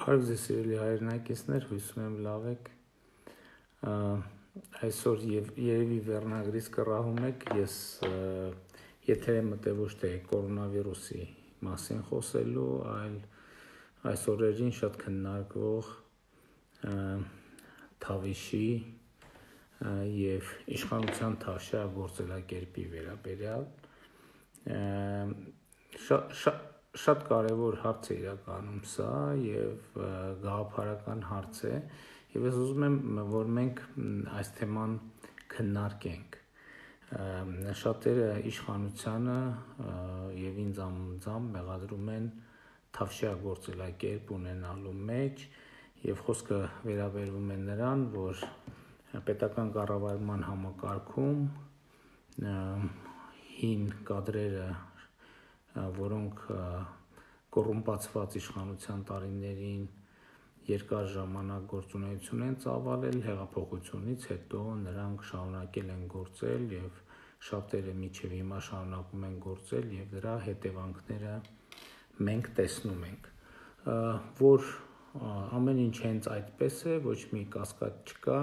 Բարև ձեզ սիրելի հայրենակիցներ, հույսում եմ լավ եք, այսօր երևի վերնագրից կռահում եք, ես եթեր եմ մտել ոչ թե կորոնավիրուսի մասին խոսելու, այլ այս օրերին շատ քննարկվող Թավիշի և իշխանության թավշյա գործելակերպի վերաբերյալ Շատ կարևոր հարց է իրականում սա և գաղափարական հարց է և ես ուզում եմ, որ մենք այս թեման քննարկենք Շատերը իշխանությանը և ինձ անձամբ մեղադրում են թավշյա գործելակերպ ունենալու մեջ և խոսքը վերաբերվում է նրան, որ պետական կառավարման համակարգում հին կադրերը, որոնք կոռումպացված իշխանության տարիներին երկար ժամանակ գործունեություն են ծավալել, հեղափոխությունից հետո նրանք շարունակել են գործել և շատերը մինչև հիմա շարունակում են գործել և դրա հետևանքները մենք տեսնում ենք, որ ամեն ինչ հենց այդպես է, ոչ մի կասկած չկա,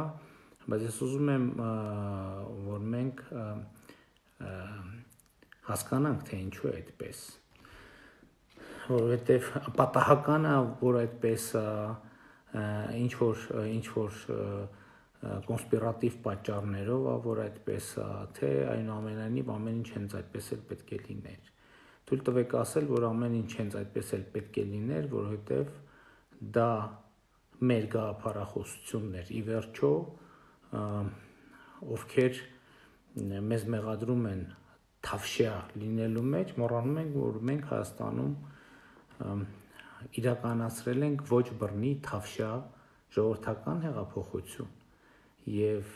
բայց ես ուզում եմ, որ մենք հասկանանք, թե ինչու է այդպես, որովհետև պատահականը, որ այդպես ինչ-որ կոնսպիրատիվ պատճառներով, որ այդպես թե այնուամենայնիվ ամեն ինչ հենց այդպես էլ պետք է լիներ։ Թույլ տվեք ասել, որ ամեն ինչ հենց այդպես էլ պետք է լիներ, որովհետև դա մեր գաղափարախոսությունն էր, ի վերջո, ովքեր մեզ մեղադրում են թավշյա լինելու մեջ, մոռանում ենք, որ մենք Հայաստանում իրականացրել ենք ոչ բռնի թավշյա ժողովրդական հեղափոխություն և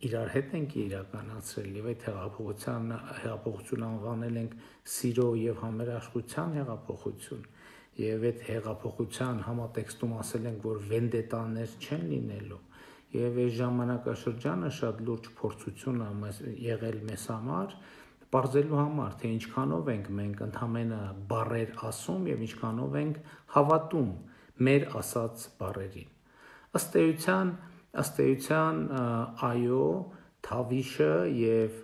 իրար հետ ենք իրականացրել և այդ հեղափոխությունը անվանել ենք սիրո և համերաշխության հեղափոխություն և այդ հեղափոխության համատեքստում ասել ենք, որ վենդետաներ չեն լինելու և այս ժամանակաշրջանը շատ լուրջ փորձություն է եղել մեզ համար պարզելու համար, թե ինչքանով ենք մենք ընդամենը բառեր ասում և ինչքանով ենք հավատում մեր ասած բառերին։ Ըստ էության, այո, Թավիշը և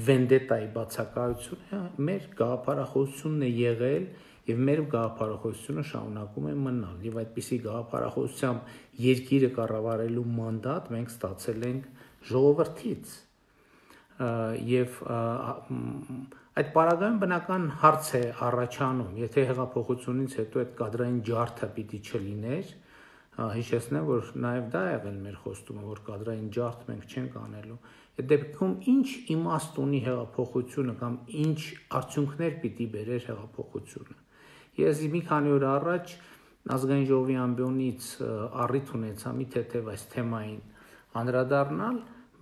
վենդետայի բացակայությունը մեր գաղափարախոսությունն է եղել և մեր գաղափարախոսությունը շարունակում է մնալ և այդպիսի գաղափարախոսությամբ երկիրը կառավարելու մանդատ մենք ստացել ենք ժողովրդից և այդ պարագայում բնական հարց է առաջանում, եթե հեղափոխությունից հետո այդ կադրային ջարդը պիտի չլիներ, հիշեցնեմ, որ նաև դա է եղել մեր խոստումը, որ կադրային ջարդ մենք չենք անելու, այդ դեպքում ինչ իմաստ ունի հեղափոխությունը կամ ինչ արդյունքներ պիտի բերեր հեղափոխությունը։ Ես մի քանի օր առաջ Ազգային ժողովի ամբիոնից առիթ ունեցա մի թեթև այս թեմային անդրադառնալ,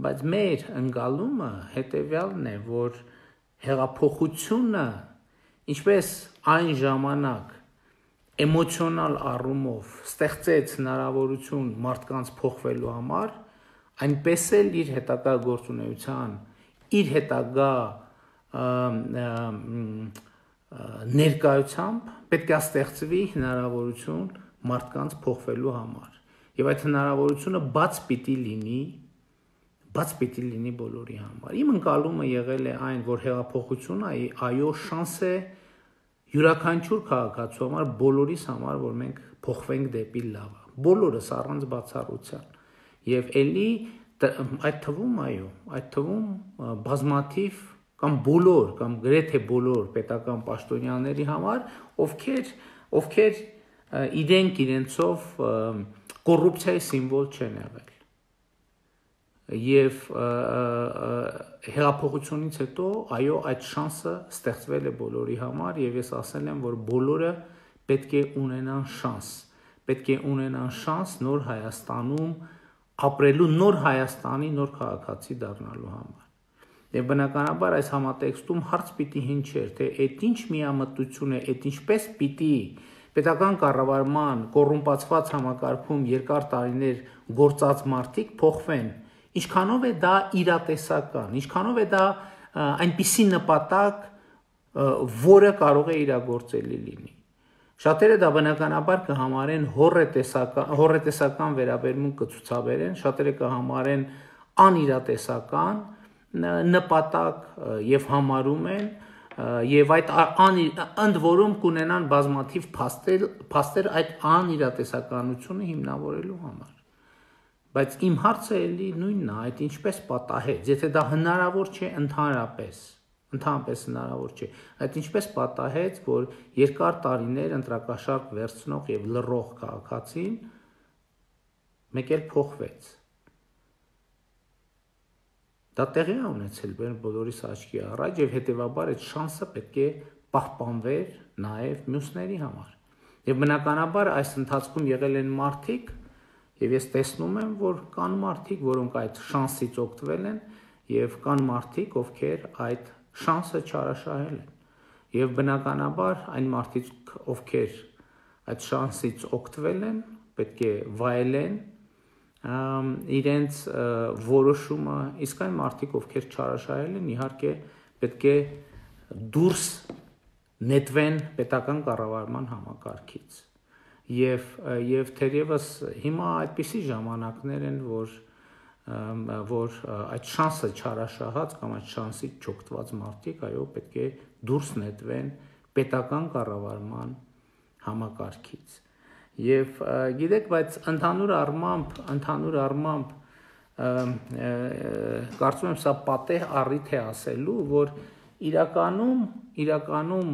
բայց մեր ընկալումը հետևյալն է, որ հեղափոխությունը, ինչպես այն ժամանակ էմոցիոնալ առումով ստեղծեց հնարավորություն մարդկանց փոխվելու համար, այնպես էլ իր հետագա գործունեության, իր հետագա ներկայությամբ պետք է ստեղծվի հնարավորություն մարդկանց փոխվելու համար և այդ հնարավորությունը բաց պիտի լինի բոլորի համար։ Իմ ընկալումը եղել է այն, որ հեղափոխությունը այո շանս է յուրաքանչյուր քաղաքացու համար, բոլորիս համար, որ մենք փոխվենք դեպի լավը, բոլորս առանց բացառության և էլի այդ թվում բազմաթիվ կամ բոլոր կամ գրեթե բոլոր պետական պաշտոնյաների համար, ովքեր իրենցով կոռուպցիայի սիմվոլ չեն եղել և հեղափոխությունից հետո այո այդ շանսը ստեղծվել է բոլորի համար և ես ասել եմ, որ բոլորը պետք է ունենան շանս նոր Հայաստանում ապրելու, նոր Հայաստանի նոր քաղաքացի դառնալու համար և բնականաբար այս համատեքստում հարց պիտի հնչեր, թե այդ ինչ միամտություն է, այդ ինչպես պիտի պետական կառավարման կոռումպացված համակարգում երկար տարիներ գործած մարդիկ փոխվեն, ինչքանով է դա իրատեսական, ինչքանով է դա այնպիսի նպատակ, որը կարող է իրագործելի լինի։ Շատերը դա բնականաբար կհամարեն հոռետեսական վերաբերմունք կցուցաբերեն, շատերը կհամարեն անիրատեսական նպատակ եւ համարում են եւ այդ ընդ որում կունենան բազմաթիվ փաստեր այդ անիրատեսականությունը հիմնավորելու համար։ Բայց իմ հարցը էլի նույնն է, այդ ինչպես պատահեց, եթե դա հնարավոր չէ ընդհանրապես հնարավոր չէ, այդ ինչպես պատահեց, որ երկար տարիներ ընտրակաշարք վերցնող եւ լռող քաղաքացին մեկ էլ փոխվեց։ Դա տեղի է ունեցել բոլորիս աչքի առաջ եւ հետեւաբար այդ շանսը պետք է պահպանվեր նաեւ մյուսների համար։ Եվ բնականաբար այս ընթացքում եղել են մարդիկ, եւ ես տեսնում եմ, որ կան մարդիկ, որոնք այդ շանսից օգտվել են եւ կան մարդիկ, ովքեր այդ շանսը չարաշահել են։ Եվ բնականաբար այն մարդիկ, ովքեր այդ շանսից օգտվել են, պետք է վայելեն իրենց որոշումը, իսկ այն մարդիկ, ովքեր չարաշահել են, իհարկե պետք է դուրս նետվեն պետական կառավարման համակարգից։ Եվ թերևս հիմա այդպիսի ժամանակներ են, որ այդ շանսը չարաշահած կամ այդ շանսից չօգտված մարդիկ, այո, պետք է դուրս նետվեն պետական կառավարման համակարգից։ Եվ գիտեք, բայց ընդհանուր առմամբ կարծում եմ սա պատեհ առիթ է ասելու, որ իրականում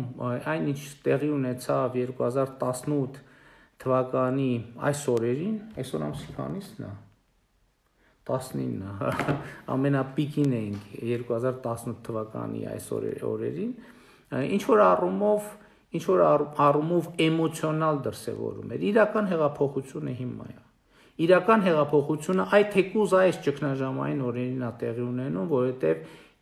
այն ինչ տեղի ունեցավ 2018 թվականի այս օրերին, այսօր ամսի քանիսն է, 19-ը, ամենապիկին էինք 2018 թվականի այս օրերին, ինչ որ առումով էմոցիոնալ դրսևորում էր, իրական հեղափոխությունը հիմա է, իրական հեղափոխությունը այդ թեկուզ այս ճգնաժամային օրերին է տեղի ունենում,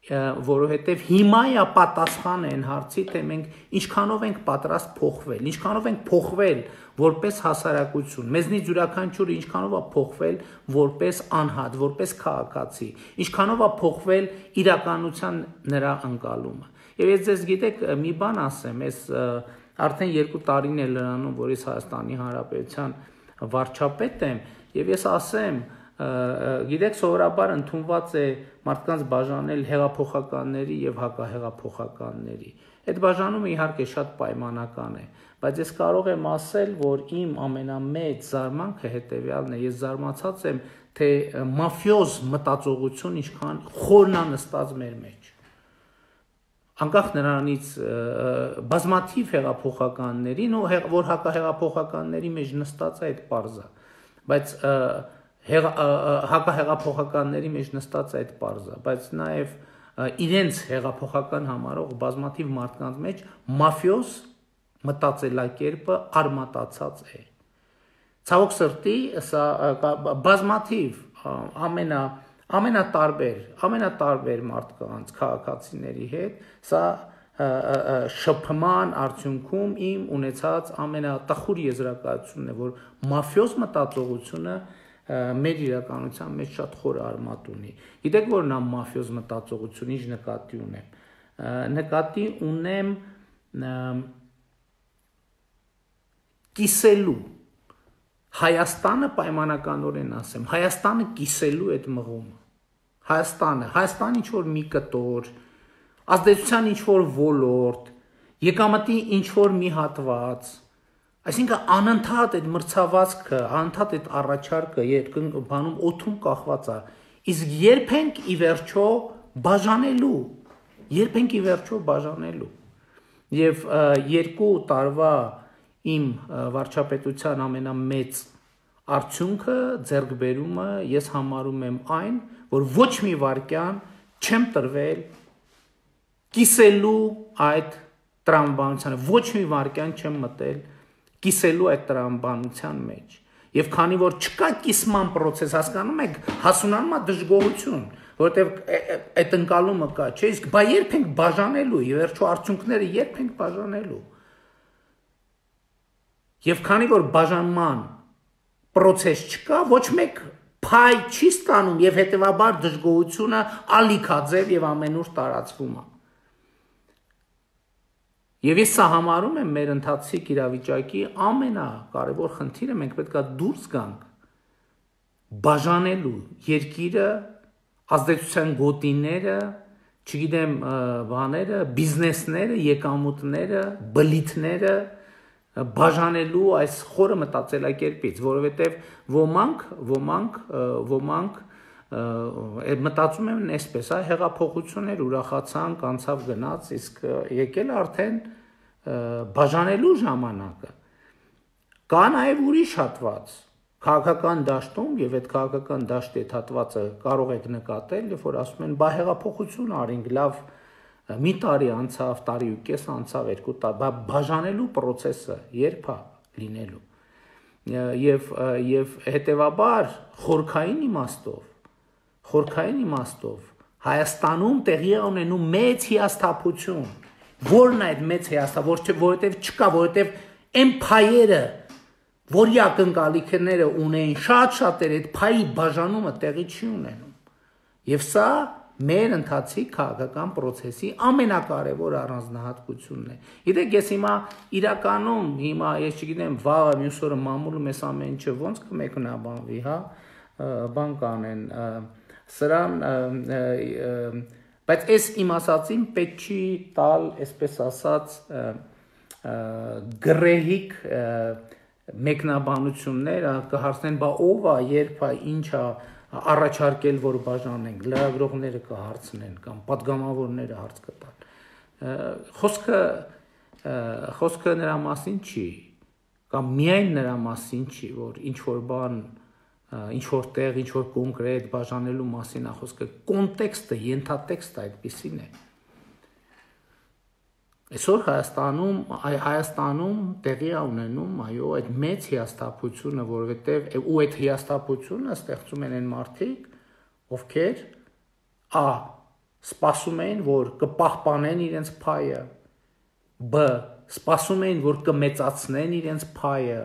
որովհետև հիմա է պատասխան են հարցի, թե մենք ինչքանով ենք պատրաստ փոխվել, ինչքանով ենք փոխվել որպես հասարակություն, մեզնից յուրաքանչյուրը ինչքանով է փոխվել որպես անհատ, որպես քաղաքացի, ինչքանով է փոխվել իրականության նրա ընկալումը։ Եվ ես ձեզ գիտեք մի բան ասեմ, ես արդեն 2 տարին է լրանում, որ ես Հայաստանի Հանրապետության վարչապետ եմ, եւ ես ասեմ, գիտեք, սովորաբար ընդունված է մարդկանց բաժանել հեղափոխականների եւ հակահեղափոխականների։ Այդ բաժանումը իհարկե շատ պայմանական է, բայց ես կարող եմ ասել, որ իմ ամենամեծ զարմանքը հետեւյալն է, ես զարմացած եմ, թե մաֆիոզ մտածողություն ինչքան խորն է նստած մեր մեջ։ Անկախ նրանից բազմաթիվ հեղափոխականներին, որ հակահեղափոխականների մեջ նստած է այդ պարզը, բայց հակահեղափոխականների մեջ նստած է այդ պարզը, բայց նաև իրենց հեղափոխական համարող բազմաթիվ մարդկանց մեջ մաֆիոզ մտածելակերպը արմատացած է։ Ցավոք սրտի, սա բազմաթիվ ամենատարբեր մարդկանց, քաղաքացիների հետ, սա շփման արդյունքում իմ ունեցած ամենատխուր եզրակացությունն է, որ մաֆիոզ մտածողությունը մեր իրականության մեջ շատ խոր արմատ ունի։ Գիտեք, որ նա մաֆիոզ մտածողություն ինչ նկատի ունեմ։ Նկատի ունեմ կիսելու Հայաստանը պայմանականորեն ասեմ, Հայաստանը կիսելու այդ մղումը։ Հայաստանը ինչ-որ մի կտոր, ազդեցության ինչ-որ ոլորտ, եկամտի ինչ-որ մի հատված, այսինքն անընդհատ այդ մրցավազքը, անընդհատ այդ առաջարկը բանում օդում կախված է, իսկ երբ ենք ի վերջո բաժանելու։ Եվ 2 տարվա իմ վարչապետության ամենամեծ արդյունքը, ձեռքբերումը ես համարում եմ այն, որ ոչ մի վայրկյան չեմ տրվել կիսելու այդ տրամաբանությանը, ոչ մի վայրկյան չեմ մտել կիսելու այդ տրամաբանության մեջ։ Եվ քանի որ չկա կիսման process, հասկանում եք, հասունանում է դժգոհություն, որովհետև այդ ընկալումը կա, չէ՞, իսկ բա երբ ենք բաժանելու, ի վերջո արդյունքները երբ ենք բաժանելու։ Եվ քանի որ բաժանման process չկա, ոչ մեկ փայ չի ստանում եւ հետեւաբար դժգոհությունը ալիքաձև եւ ամենուր տարածվում է։ Եվ ես սա համարում եմ մեր ընթացիկ իրավիճակի ամենակարևոր խնդիրը, մենք պետք է դուրս գանք բաժանելու երկիրը, ազդեցության գոտիները, չգիտեմ, բաները, բիզնեսները, եկամուտները, բլիթները բաժանելու այս խորը մտածելակերպից, որովհետև ոմանք մտածում են այսպես, հեղափոխություններ ուրախացանք, անցավ գնաց, իսկ եկել արդեն բաժանելու ժամանակը։ Կա նաև ուրիշ հատված քաղաքական դաշտում, եւ այդ քաղաքական դաշտի հատվածը կարող եք նկատել, երբ որ ասում են՝ «Բա հեղափոխություն արինք, լավ, մի տարի անցավ, տարի ու կես անցավ, 2 տարի, բաժանելու process-ը երբ է լինելու»։ Եվ հետևաբար խորքային իմաստով Հայաստանում տեղի է ունենում մեծ հիասթափություն։ Որն է այդ մեծ հիասթափությունը, որովհետև չկա, որովհետև այն փայերը, որի ակնկալիքները ունեին շատ-շատերը, այդ փայի բաժանումը տեղի չի ունենում։ Եվ սա մեր ընթացիկ քաղաքական process-ի ամենակարևոր առանձնահատկությունն է։ Գիտեք, ես հիմա իրականում, ես չգիտեմ, վաղը մյուս օրը մամուլում ես ամեն ինչը ոնց կմեկնաբանվի, հա, բան կանեն, սրան, բայց այս իմ ասածին պետք չի տալ, այսպես ասած, գրեհիկ մեկնաբանություններ, կհարցնեն, բա ով է, երբ է, ինչ է առաջարկել, որ բաժանենք, լրագրողները կհարցնեն կամ պատգամավորները հարց կտան։ Խոսքը նրա մասին չի, կամ միայն նրա մասին չի, որ ինչ-որ բան, ինչ-որ տեղ, ինչ-որ կոնկրետ բաժանելու մասին է խոսքը, կոնտեքստը, ենթատեքստը այդպիսին է։ Այսօր Հայաստանում տեղի է ունենում, այո, այդ մեծ հիասթափությունը, որովհետև ու այդ հիասթափությունը ստեղծում են այն մարդիկ, ովքեր սպասում էին, որ կպահպանեն իրենց փայը, սպասում էին, որ կմեծացնեն իրենց փայը,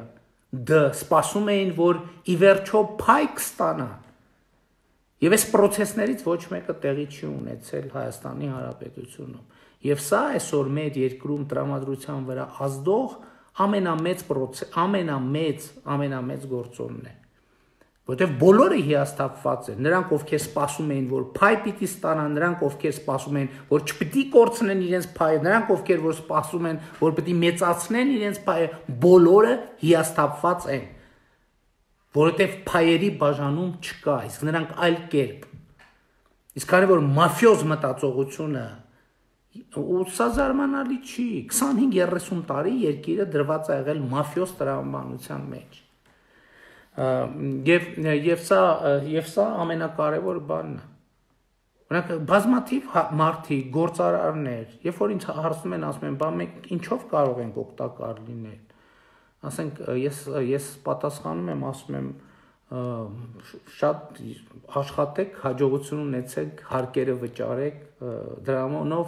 սպասում էին, որ ի վերջո փայ կստանան։ Եվ այս process-ներից ոչ մեկը տեղի չի ունեցել Հայաստանի Հանրապետությունում։ Եվ սա այսօր մեր երկրում տրամադրության վրա ազդող ամենամեծ գործոնն է։ Որտեվ բոլորը հիասթափված են, նրանք ովքեր սպասում էին, որ փայ պիտի ստանան, նրանք ովքեր սպասում էին, որ չպիտի կորցնեն իրենց փայը, նրանք ովքեր որ սպասում են, որ պիտի մեծացնեն իրենց փայը, բոլորը հիասթափված են, որովհետև փայերի բաժանում չկա, իսկ նրանք այլ կերպ։ Իսկ քանի որ մաֆիոզ մտածողությունը ու սա զարմանալի չի, 25-30 տարի երկիրը դրված է եղել մաֆիոզ տրամաբանության մեջ։ Եվ սա ամենակարևոր բանն է։ Օրինակ բազմաթիվ մարդիկ, գործարարներ, երբ որ ինձ հարցնում են, ասում են, բա մենք ինչով կարող ենք օգտակար լինել։ Ասենք ես պատասխանում եմ, ասում եմ, շատ աշխատեք, հաջողություն ունեցեք, հարկերը վճարեք, դրանով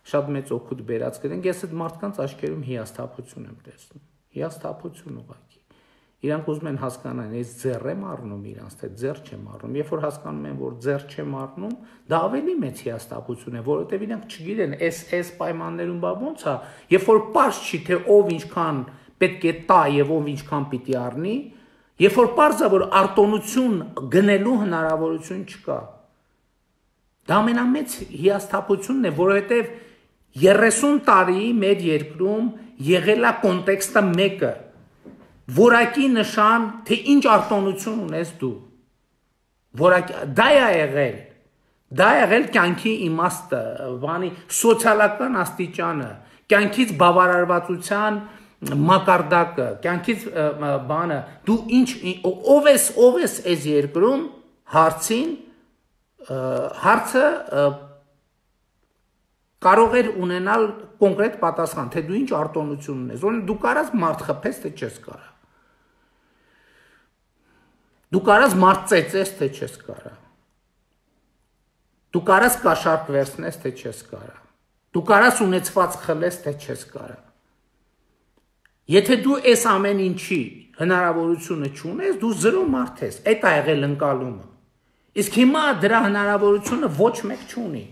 շատ մեծ օգուտ բերած կդենք։ Ես այդ մարդկանց աչքերում հիասթափություն եմ տեսնում։ Հիասթափություն ուղղակի։ Իրանք ուզում են հասկանալ, ես ձեռ եմ առնում իրանց, թե ձեռ չեմ առնում։ Երբ որ հասկանում են, որ ձեռ չեմ առնում, դա ավելի մեծ հիասթափություն է, որովհետև իրանք չգիտեն, այս պայմաններում բա ոնց է, երբ որ պարզ չի, թե ով ինչքան պետք է տա եւ ով ինչքան պիտի առնի, երբ որ պարզ է, որ արտոնություն գնելու հնարավորություն չկա։ Դա ամենամեծ հիասթափությունն է, որովհետև 30 տարի մեր երկրում եղել է կոնտեքստը մեկը, որակի նշան, թե ինչ արտոնություն ունես դու, դա է եղել կյանքի իմաստը, սոցիալական աստիճանը, կյանքից բավարարվածության մակարդակը, կյանքից բանը, դու ով ես այս երկրում հարցը կարող էր ունենալ կոնկրետ պատասխան, թե դու ինչ արտոնություն ունես, դու կարաս մարդ խփես, թե չես կարա, դու կարաս մարդ ծեծես, թե չես կարա, դու կարաս կաշառք վերցնես, թե չես կարա, դու կարաս ունեցված խլես, թե չես կարա։ Եթե դու այս ամեն ինչի հնարավորությունը չունես, դու զրո մարդ ես, այդ է եղել ընկալումը։ Իսկ հիմա դրա հնարավորությունը ոչ մեկ չունի։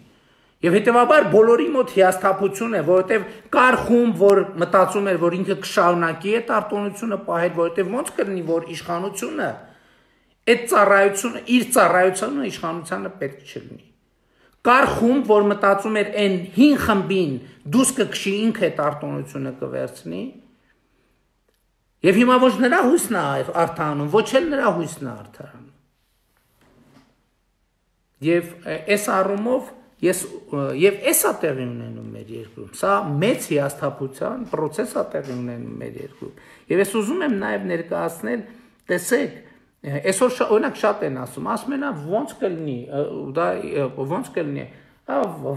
Եվ հետևաբար բոլորի մոտ հիասթափություն է, որովհետև կար խումբ, որ մտածում էր, որ ինքը կշարունակի այդ արտոնությունը պահել, որովհետև ոնց կլինի, որ իշխանությունը այդ ծառայությունը, իր ծառայությունը իշխանությանը պետք չլինի։ Կար խումբ, որ մտածում էր այն հին խմբին դուս կքշի ինքը այդ արտոնությունը կվերցնի, եւ հիմա ոչ նրա հույսն է արդարանում, ոչ էլ նրա հույսն է արդարանում։ Եվ այս առումով Եվ էսա տեղի ունենում մեր երկրում, սա մեծ հիասթափության պրոցես է տեղի ունենում մեր երկրում։ Եվ ես ուզում եմ նաև ներկայացնել, տեսեք, այսօր օրինակ շատ են ասում են ոնց կլինի, դա ոնց կլինի,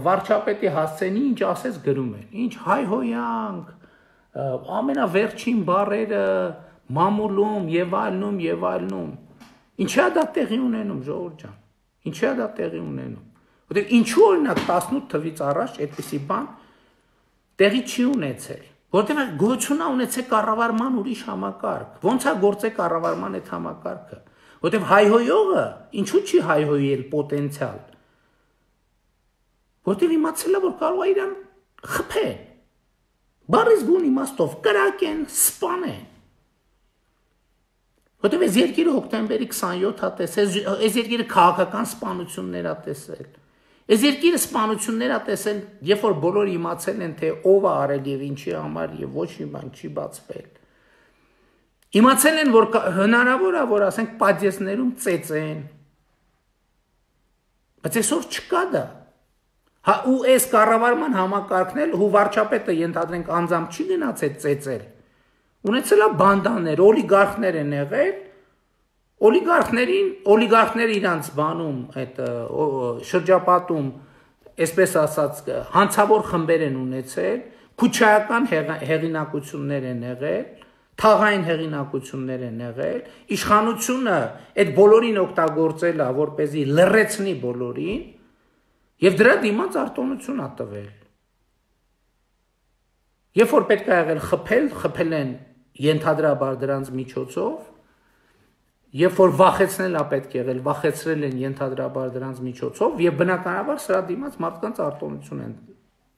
վարչապետի հասցենի ինչ ասես գրում են, ինչ հայհոյանք, ամենավերջին բառերը մամուլում եւ այլնում, ինչի է դա տեղի ունենում, ժողովուրդ ջան, ինչի է դա տեղի ունենում։ Որտեղ ինչու օրինակ 18 թվից առաջ այդպիսի բան տեղի չի ունեցել, որտեղ գոյություն է ունեցել կառավարման ուրիշ համակարգ, ոնց է գործել կառավարման այդ համակարգը, որտեղ հայհոյողը ինչու չի հայհոյել պոտենցիալ, որտեղ իմացել է, որ կարող է իրան խփել, բառից բուն իմաստով կրակեն, սպանեն, որտեղ այս երկիրը հոկտեմբերի 27-ը տեսել, այս երկիրը քաղաքական սպանություններ է տեսել, այս երկիրը սպանություններ է տեսել, երբ որ բոլորը իմացել են, թե ով է արել եւ ինչի համար եւ ոչ մի բան չի բացվել։ Իմացել են, որ հնարավոր է, որ ասենք պատժեսներում ծեծեն։ Բայց այսօր չկա դա։ Հա ու այս կառավարման համակարգն էլ ու վարչապետը ենթադրենք անձամբ չի գնացել ծեծել։ Ունեցել է բանդաներ, օլիգարխներ են եղել, օլիգարխները իրանց բանում, այդ շրջապատում, այսպես ասած, հանցավոր խմբեր են ունեցել, քուչայական հեղինակություններ են եղել, թաղային հեղինակություններ են եղել, իշխանությունը այդ բոլորին օգտագործել է, որպեսզի լռեցնի բոլորին, եւ դրա դիմաց արտոնություն է տվել։ Երբ որ պետք է եղել խփել են ենթադրաբար դրանց միջոցով, երբ որ վախեցնել է պետք եղել, վախեցրել են ենթադրաբար դրանց միջոցով եւ բնականաբար սրա դիմաց մարդկանց արտոնություն են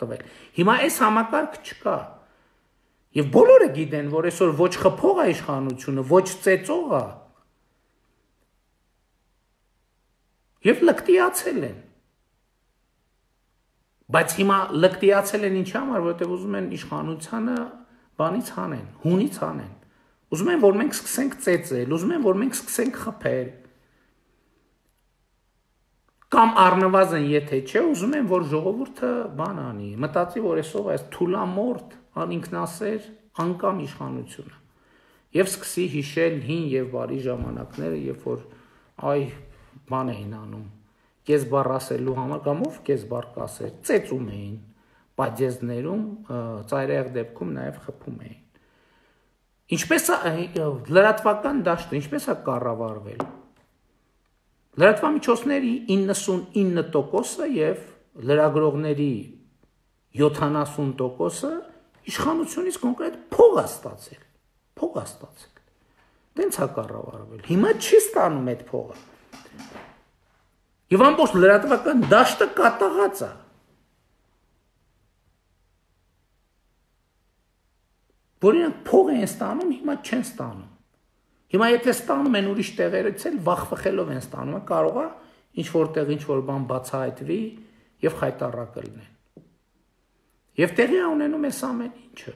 տվել։ Հիմա այս համակարգ չկա։ Եվ բոլորը գիտեն, որ այսօր ոչ խփող է իշխանությունը, ոչ ծեծող է։ Եվ լկտիացել են։ Բայց հիմա լկտիացել են ինչի համար, որովհետև ուզում են իշխանությանը բանից հանեն, հունից հանեն։ Ուզում են, որ մենք սկսենք ծեծել, ուզում են, որ մենք սկսենք խփել։ Կամ առնվազն եթե չէ, ուզում են, որ ժողովուրդը բան անի, մտածի, որ այսօր այս թուլամորթ, անինքնասեր, անկամ իշխանությունը։ Եվ սկսի հիշել հին եւ բարի ժամանակները, երբ որ այ բան էին անում, կես բառ ասելու համար կամ ով կես բառ կասեր, ծեծում էին, պատժեզներում, ծայրահեղ դեպքում նաեւ խփում էին։ Ինչպես է լրատվական դաշտը, ինչպես է կառավարվել։ Լրատվամիջոցների 99%-ը եւ լրագրողների 70%-ը իշխանությունից կոնկրետ փող է ստացել։ Դենց է կառավարվել։ Հիմա չի ստանում այդ փողը։ Եվ ամբողջ լրատվական դաշտը կատաղած է։ Որ իրենք փող են ստանում, հիմա չեն ստանում։ Հիմա եթե ստանում են ուրիշ տեղերից էլ վախվխելով են ստանում, կարող է ինչ-որտեղ ինչ-որ բան բացահայտվի եւ խայտառակը լինեն։ Եվ տեղի է ունենում այս ամեն ինչը։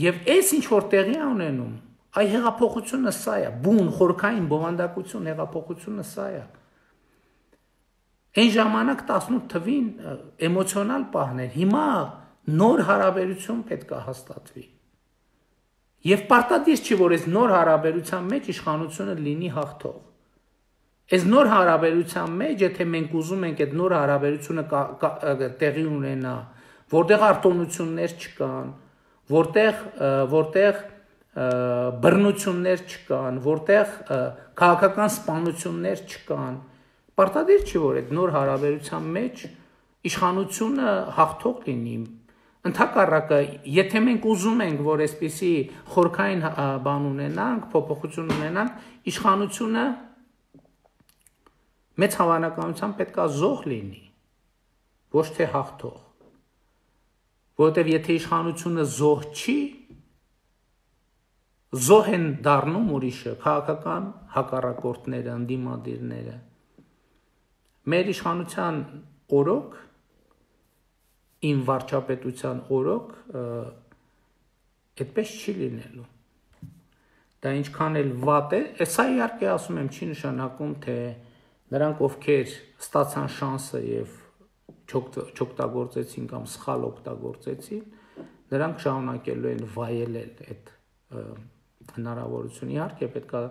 Եվ այս ինչ-որ տեղի է ունենում, այ հեղափոխությունը սա է, բուն, խորքային բովանդակություն հեղափոխությունը սա է։ Այն ժամանակ 18 թվին էմոցիոնալ պահներ, հիմա նոր հարաբերություն պետք է հաստատվի։ Եվ պարտադիր չի, որ այս նոր հարաբերության մեջ իշխանությունը լինի հաղթող։ Այս նոր հարաբերության մեջ, եթե մենք ուզում ենք այդ նոր հարաբերությունը տեղի ունենա, որտեղ արտոնություններ չկան, որտեղ բռնություններ չկան, որտեղ քաղաքական սպանություններ չկան, պարտադիր չի, որ այդ նոր հարաբերության մեջ իշխանությունը հաղթող լինի։ Ընդհակառակը, եթե մենք ուզում ենք, որ այսպիսի խորքային բան ունենանք, փոփոխություն ունենանք, իշխանությունը մեծ հավանականությամբ պետք է զոհ լինի։ ոչ թե հաղթող, որովհետև եթե իշխանությունը զոհ չի, զոհ են դառնում ուրիշը, քաղաքական հակառակորդները, ընդդիմադիրները։ Մեր իշխանության օրոք, իմ վարչապետության օրոք, այդպես չի լինելու։ Դա ինչքան էլ վատ է, սա իհարկե ասում եմ, չի նշանակում, թե նրանք, ովքեր ստացան շանսը եւ չօգտագործեցին կամ սխալ օգտագործեցին, նրանք շարունակելու են վայելել այդ հնարավորությունը։ Իհարկե պետք է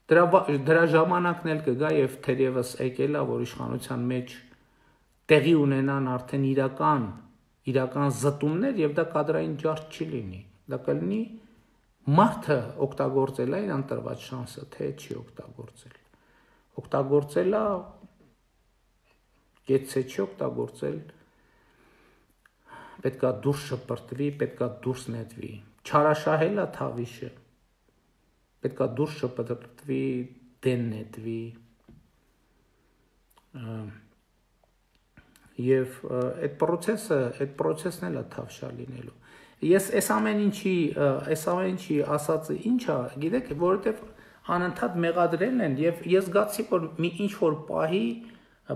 դրա ժամանակն էլ կգա եւ թերևս եկել է, որ իշխանության մեջ տեղի ունենան արդեն իրական զտումներ եւ դա կադրային ջարդ չի լինի։ Դա կլինի մարդը օգտագործել է իր ընտրված շանսը, թե չի օգտագործել։ Օգտագործել է, գեցե չի օգտագործել, պետքա դուրս շպրտվի, պետքա դուրս նետվի։ Չարաշահել է թավիշը, պետքա դուրս շպրտվի, դեն նետվի։ Եվ այդ պրոցեսն էլ է թավշա լինելու։ Ես այս ամեն ինչի ասածը ինչ է, գիտեք, որովհետև անընդհատ մեղադրելն են եւ ես զգացի, որ մի ինչ որ պահի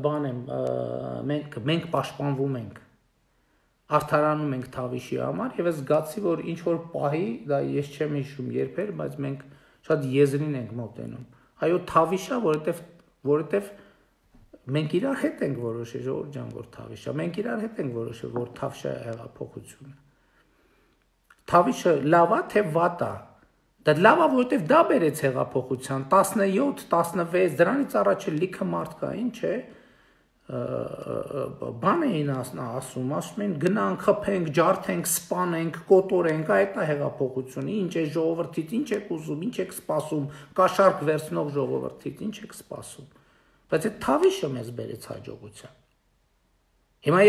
բան եմ, մենք պաշտպանվում ենք, արդարանում ենք թավիշի համար եւ ես զգացի, որ ինչ որ պահի, դա ես չեմ հիշում երբեր, բայց մենք շատ եզրին ենք մոտենում։ Այո, թավիշա, որովհետև մենք իրար հետ ենք որոշել, ժողովուրդ ջան, որ թավիշա, մենք իրար հետ ենք որոշել, որ թավշա է հեղափոխությունը։ Թավիշը լավ է, թե վատ է։ Դա լավ է, որովհետև դա բերեց հեղափոխության 17, 16, դրանից առաջ լիքը մարդկային, չէ, բան էին ասում են գնանք, խփենք, ջարդենք, սպանենք, կոտորենք, այդ է հեղափոխությունը, ինչ է ժողովրդից, ինչ եք ուզում, ինչ եք սպասում, կաշառք վերցնող ժողովրդից, ինչ եք սպասում։ Բայց այդ թավիշը մեզ բերեց հաջողության։ Հիմա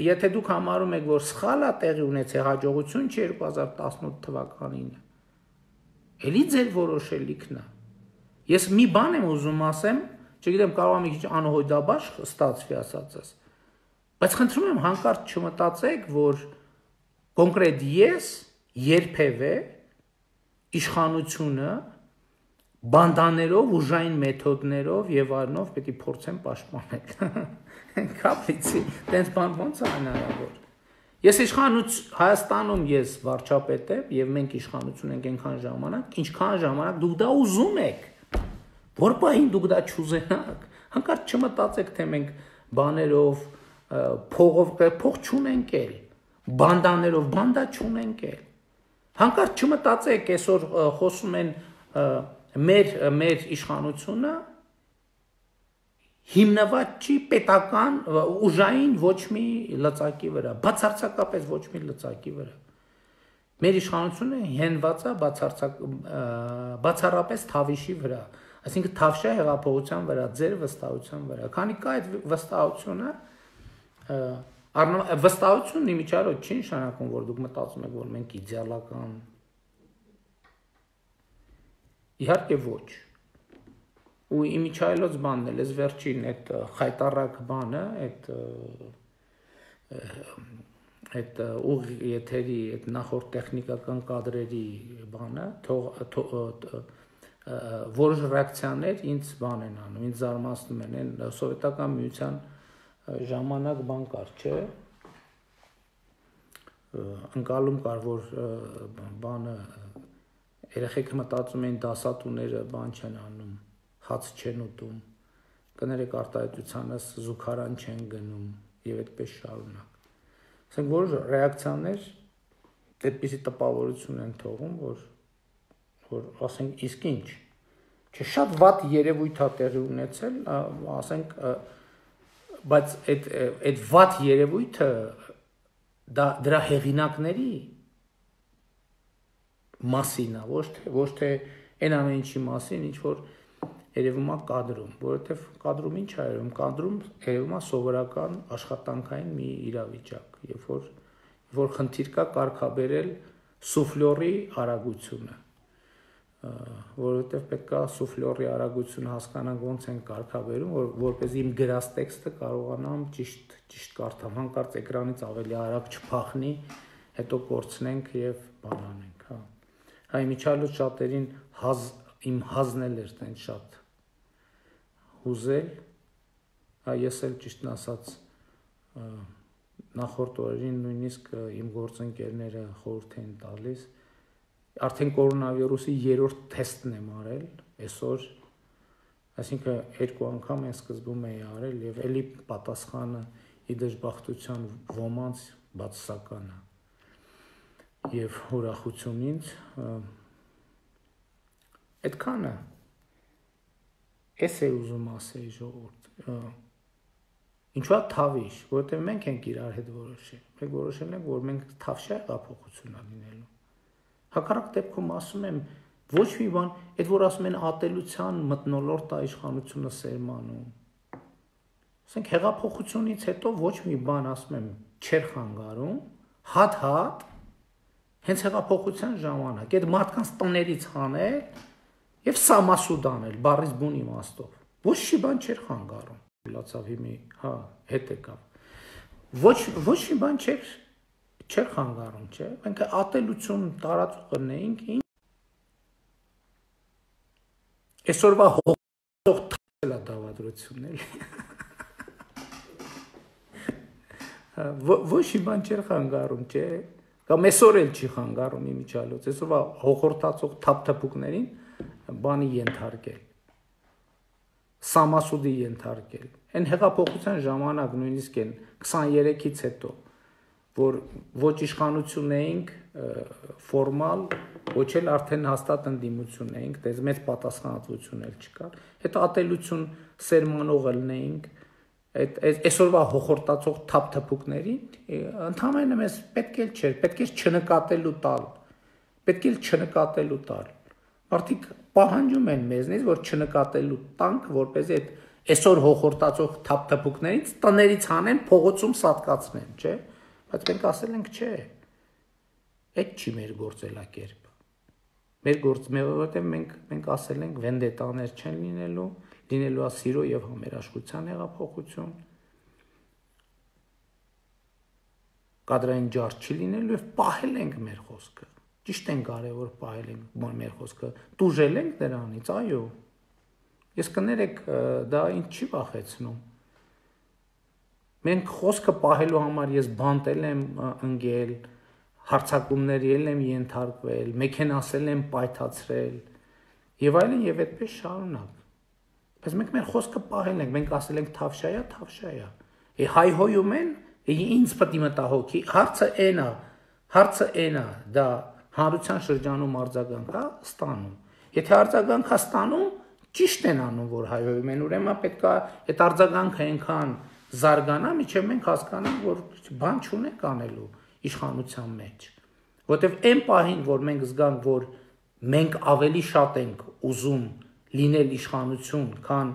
եթե դուք համարում եք, որ սխալ է տեղի ունեցել հաջողություն չի 2018 թվականին, էլի ձեր որոշելիքն է։ Ես մի բան եմ ուզում ասեմ, չգիտեմ, կարող եմ մի քիչ անհոյդաբար ստացվի ասածս, բայց խնդրում եմ հանկարծ չմտածեք, որ կոնկրետ ես երբևէ իշխանությունը բանդաներով, ուժային մեթոդներով եւ այլնով պետք է փորձեմ պաշտպանել։ Կապիցի, տենց բան ոնց է հնարավոր։ Ես Հայաստանում ես վարչապետ եմ եւ մենք իշխանություն ենք այնքան ժամանակ, ինչքան ժամանակ դուք դա ուզում եք։ Որ բային դուք դա չուզենաք, հանկարծ չմտածեք, թե մենք բաներով, փող չունենք էլ, բանդաներով, բանդա չունենք էլ։ Հանկարծ չմտածեք, այսօր խոսում են մեր իշխանությունը հիմնված չի պետական ուժային ոչ մի լծակի վրա, բացարձակապես ոչ մի լծակի վրա։ Մեր իշխանությունը հենված է բացառապես թավիշի վրա, այսինքն թավշա հեղափոխության վրա, ձեր վստահության վրա։ Քանի կա այդ վստահությունը, վստահությունն իմիջիայլոց չի նշանակում, որ դուք մտածում եք, որ մենք իդեալական։ Իհարկե ոչ։ Ու իմիջայլոց բանն էլ, ես վերջին այդ խայտարակ բանը, այդ ուղի եթերի, այդ նախորդ տեխնիկական կադրերի բանը, որոշ ռեակցիաներ ինձ բան են անում, ինձ զարմացնում են, սովետական միության ժամանակ բան կար, չէ, ընկալում կար, որ բանը, երեխեքը մտածում էին դասատուները բան չեն անում, հաց չեն ուտում, կներեք արտահայտությանս զուգարան չեն գնում եւ այդպես շարունակ։ Ասենք որ ռեակցիաներ այդպիսի տպավորություն են թողում, որ ասենք իսկ ինչ, չէ, շատ վատ երևույթ է տեղի ունեցել, ասենք, բայց այդ վատ երևույթը դրա հեղինակների մասին է, ոչ թե այն ամեն ինչի մասին, ինչ որ երևում է կադրում, որովհետև կադրում ինչ է երևում, կադրում երևում է սովորական աշխատանքային մի իրավիճակ, երբ որ խնդիր կա կարգաբերել սուֆլյորի արագությունը, որովհետև պետք է սուֆլյորի արագությունը հասկանանք ոնց են կարգավերում, որպեսզի իմ գրած տեքստը կարողանամ ճիշտ կարդամ, հանկարծ էկրանից ավելի արագ չփախնի, հետո կորցնենք եւ բանանենք, հա։ Հա իմիջիալոց շատերին իմ հազն էլ էր տենց շատ հուզել, հա ես էլ ճիշտն ասած նախորդ օրերին նույնիսկ իմ գործընկերները խորհուրդ են տալիս, արդեն կորոնավիրուսի 3-րդ թեստն եմ արել այսօր, այսինքն 2 անգամ են սկզբում էի արել եւ էլի պատասխանը ի դժբախտության ոմանց բացասական է եւ ուրախություն ինձ այդքանը էս է ուզում ասել ժողովուրդ ինչու՞ թավիշ, որովհետեւ մենք ենք իրար հետ որոշել, մենք որոշել ենք, որ մենք թավշյա հեղափոխություն անելու հակառակ դեպքում ասում եմ ոչ մի բան, այդ որ ասում են ատելության մթնոլորտ է իշխանությունը սերմանում։ Ասենք հեղափոխությունից հետո ոչ մի բան ասում եմ չեր խանգարում, հատ հենց հեղափոխության ժամանակ այդ մարդկանց տներից հանել եւ սամասուդ անել, բառից բուն իմաստով։ Ոչ մի բան չէր խանգարում։ Լացավ հիմի, հա, հետ եկավ։ Ոչ մի բան չէր խանգարում, չէ՞։ Մենք ատելություն տարածող ունեինք, այսօրվա հողող թել է դավադրությունն էլի։ Ոչ մի բան չէր խանգարում, չէ՞։ Կամ այսօր էլ չի խանգարում իմիջիալոց, այսօրվա հողորտացող թափթփուկներին բանի ենթարկել։ Սամասուդի ենթարկել։ Այն հեղափոխության ժամանակ նույնիսկ են 23-ից հետո որ ոչ իշխանություն էինք ֆորմալ, ոչ էլ արդեն հաստատ ընդդիմություն էինք, դες մեծ պատասխանատվություն էլ չկար։ Այդ ատելություն սերմանող լինեինք, այսօրվա հոխորտացող թափթփուկներին, ընդհանրապես մեզ պետք էլ չէր, պետք էր չնկատելու տալ։ Մարդիկ պահանջում են մեզնից, որ չնկատելու տանք, որպեսզի այդ այսօր հոխորտացող թափթփուկներից տներից հանեն, փողոցում սատկացնեն, չէ՞։ Բայց մենք ասել ենք չէ, այդ չի մեր գործելակերպը, որովհետև մենք ասել ենք վենդետաներ չեն լինելու է սիրո և համերաշխության հեղափոխություն, կադրային ջարդ չի լինելու և պահել ենք մեր խոսքը, ճիշտ են կարևոր պահել ենք մեր խոսքը, տուժել ենք դրանից, այո, ես կներեք դա ինձ չի վախեցնում, մենք խոսքը պահելու համար ես բանտել եմ ընկել, հարցակումների եմ ենթարկվել, մեքենասել եմ պայթացրել եւ այլն եւ այդպես շարունակ։ Բայց մենք մեր խոսքը պահել ենք, մենք ասել ենք թավշայա։ Հայհոյում են, ինձ պետք է մտահոգի, հարցը էնա, դա հանրության շրջանում արձագանք է ստանում։ Եթե արձագանք է ստանում, ճիշտ են անում, որ հայհոյում են, ուրեմն պետք է այդ արձագանքը այնքան զարգանա, միջև մենք հասկանանք, որ բան չունենք անելու իշխանության մեջ, որովհետև այն պահին, որ մենք զգանք, որ մենք ավելի շատ ենք ուզում լինել իշխանություն, քան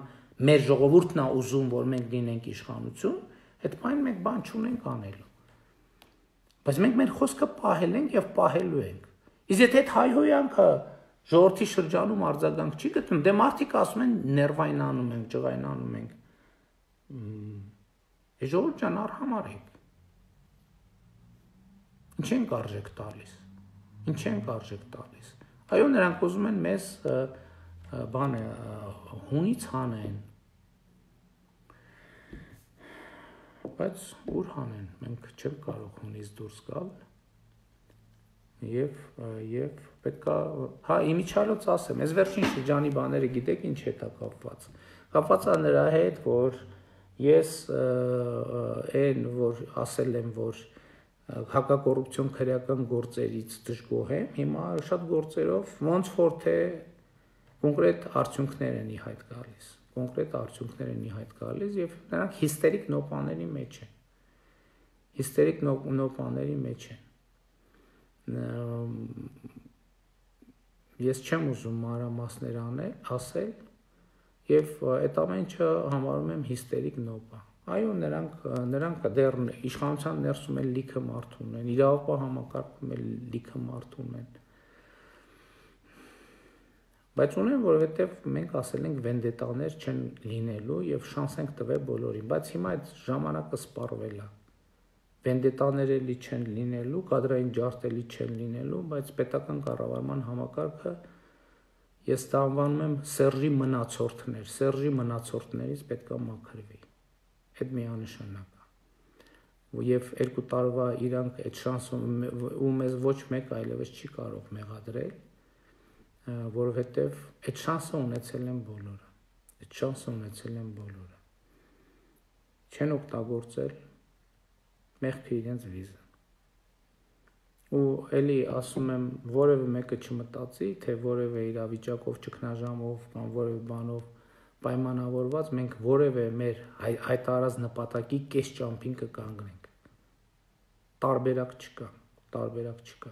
մեր ժողովուրդն է ուզում, որ մենք լինենք իշխանություն, այդ պահին մենք բան չունենք անելու։ Բայց մենք մեր խոսքը պահել ենք եւ պահելու ենք։ Իսկ եթե այդ հայհոյանքը ժողովրդի շրջանում արձագանք չի գտնում, դե մարդիկ ասում են ներվայնանում ենք, ջղայնանում ենք։ Ժողովուրդ ջան, արհամարհեք։ Ինչ ենք արժեք տալիս։ Այո, նրանք ուզում են մեզ հունից հանեն։ Բայց ուր հանեն, մենք չենք կարող հունից դուրս գալ։ Եվ պետք է, հա, իմիջիալոց ասեմ, այս վերջին շրջանի բաները գիտեք ինչ հետ է կապված։ Կապված է նրա հետ, որ ես այն, որ ասել եմ, որ հակակոռուպցիոն քրեական գործերից դժգոհ եմ, հիմա շատ գործերով ոնց որ թե կոնկրետ արդյունքներ են ի հայտ գալիս եւ նրանք հիստերիկ նոպաների մեջ են։ Ես չեմ ուզում մանրամասներ ասել եւ այդ ամեն ինչը համարում եմ հիստերիկ նոպա։ Այո, նրանք դեռ իշխանության ներսում էլ լիքը մարդ ունեն, իրավապահ համակարգում էլ լիքը մարդ ունեն։ Բայց ունեն, որովհետև մենք ասել ենք վենդետաներ չեն լինելու եւ շանս ենք տվել բոլորին, բայց հիմա այդ ժամանակը սպառվել է։ Վենդետաներ էլի չեն լինելու, կադրային ջարդ էլի չեն լինելու, բայց պետական կառավարման համակարգը ես դա անվանում եմ Սերժի մնացորդներ, Սերժի մնացորդներից պետք է մաքրվի։ Այդ միանշանակ է։ Եվ 2 տարվա իրանք այդ շանսը ու մեզ ոչ մեկ այլևս չի կարող մեղադրել, որովհետև այդ շանսը ունեցել են բոլորը։ Այդ շանսը ունեցել են բոլորը։ Չեն օգտագործել մեղքի իրենց վիզը։ Ու էլի ասում եմ, որևէ մեկը չմտածի, թե որևէ իրավիճակով ճգնաժամով կամ որևէ բանով պայմանավորված մենք որևէ մեր հայտարարած նպատակի կես ճամփին կկանգնենք։ Տարբերակ չկա։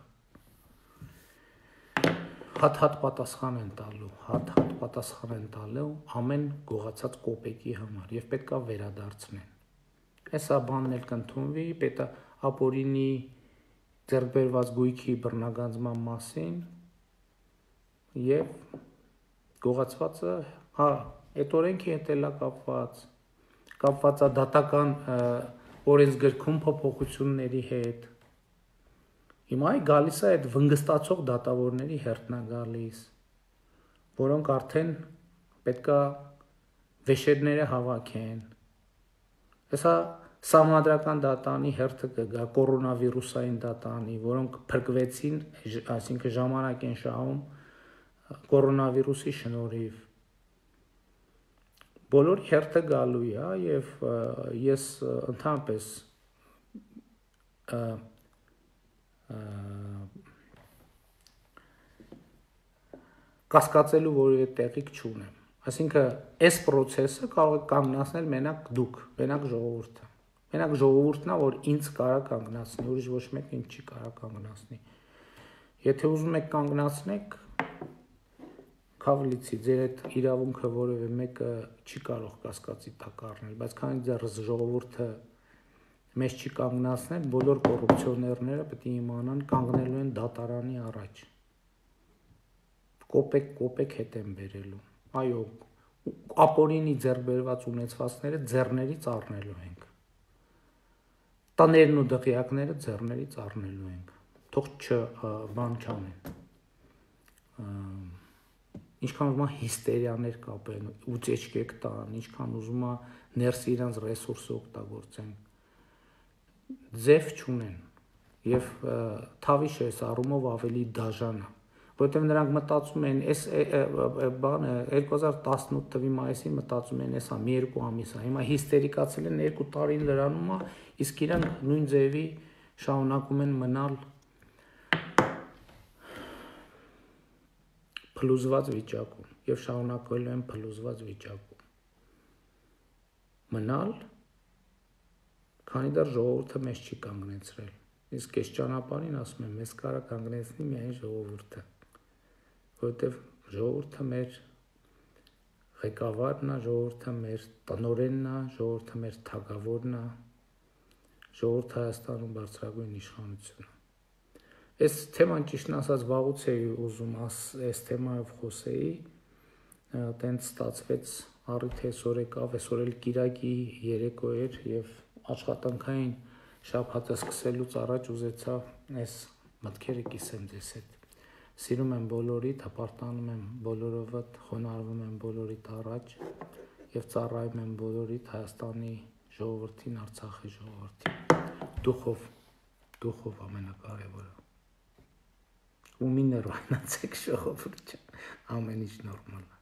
Հատ պատասխան են տալու, հատ պատասխան են տալու ամեն գողացած կոպեկի համար եւ պետքա վերադարձնեն։ Այսա բանն էլ կընդունվի, պետք է ապօրինի ձեռք բերված գույքի բռնագանձման մասին եւ գողացվածը, այդ օրենքի հետ էլա կապված է դատական օրենսգրքում փոփոխությունների հետ։ Հիմա գալիս է այդ վնգստացող դատավորների հերթն է գալիս, որոնք արդեն պետքա վեշերները հավաքեն։ Հեսա Սահմանադրական դատանի հերթը կգա, կորոնավիրուսային դատանի, որոնք փրկվեցին, այսինքն ժամանակ են շահում կորոնավիրուսի շնորհիվ։ Բոլորի հերթը գալու է եւ ես ընդհանրապես կասկածելու որևէ տեղիք չունեմ։ Այսինքն այս process-ը կարող է կանգնացնել մենակ ժողովուրդը։ Մենակ ժողովուրդն է, որ ինձ կարա կանգնացնի, ուրիշ ոչ մեկ ինձ չի կարա կանգնացնի։ Եթե ուզում եք կանգնացնեք, քավլիցի, ձեր այդ իրավունքը որևէ մեկը չի կարող կասկածի տակ առնել, բայց քանի դեռ ժողովուրդը մեզ չի կանգնացնել, բոլոր կոռուպցիոներները պետք է իմանան կանգնելու են դատարանի առաջ։ Կոպեկ հետ են բերելու։ Այո, ապօրինի ձեռք բերված ունեցվածքները ձեռներից առնելու ենք։ Տաներն ու դղյակները ձեռներից առնելու ենք, թող բան չանեն, ինչքան ուզում է հիստերիաներ կապեն, ուծեչկեք տան, ինչքան ուզում է ներսի իրանց ռեսուրսը օգտագործեն, ձև չունեն և թավիշը այս առումով ավելի դաժան է, որովհետև նրանք մտածում են, այս բանը 2018 թվականի մայիսին մտածում են, էսա մի 2 ամիս է, հիմա հիստերիկացել են 2 տարին լրանում է, իսկ իրանք նույն ձևի շարունակում են մնալ փլուզված վիճակում եւ շարունակվելու են փլուզված վիճակում մնալ, քանի դեռ ժողովուրդը մեզ չի կանգնեցրել, իսկ այս ճանապարհին ասում եմ, մեզ կարա կանգնեցնի միայն ժողովուրդը, որովհետեւ ժողովուրդը մեր ղեկավարն է, ժողովուրդը մեր տնօրենն է, ժողովուրդը մեր թագավորն է, ժողովուրդը Հայաստանում բարձրագույն իշխանություն է։ Այս թեման ճիշտն ասած վաղուց էի ուզում այս թեմայով խոսեի, տենց ստացվեց առիթ այսօր եկավ, այսօր էլ կիրակի երեկո էր եւ աշխատանքային շաբաթը սկսելուց առաջ ուզեցա այս մտքերը կիսեմ ձեզ հետ։ Սիրում եմ բոլորիդ, հպարտանում եմ բոլորովդ, խոնարհվում եմ բոլորիդ առաջ եւ ծառայում եմ բոլորիդ Հայաստանի ժողովրդին, Արցախի ժողովրդին։ Դուխով ամենակարևորը։ ու մի նորմալացեք ժողովուրդ, ամեն ինչ նորմալ է։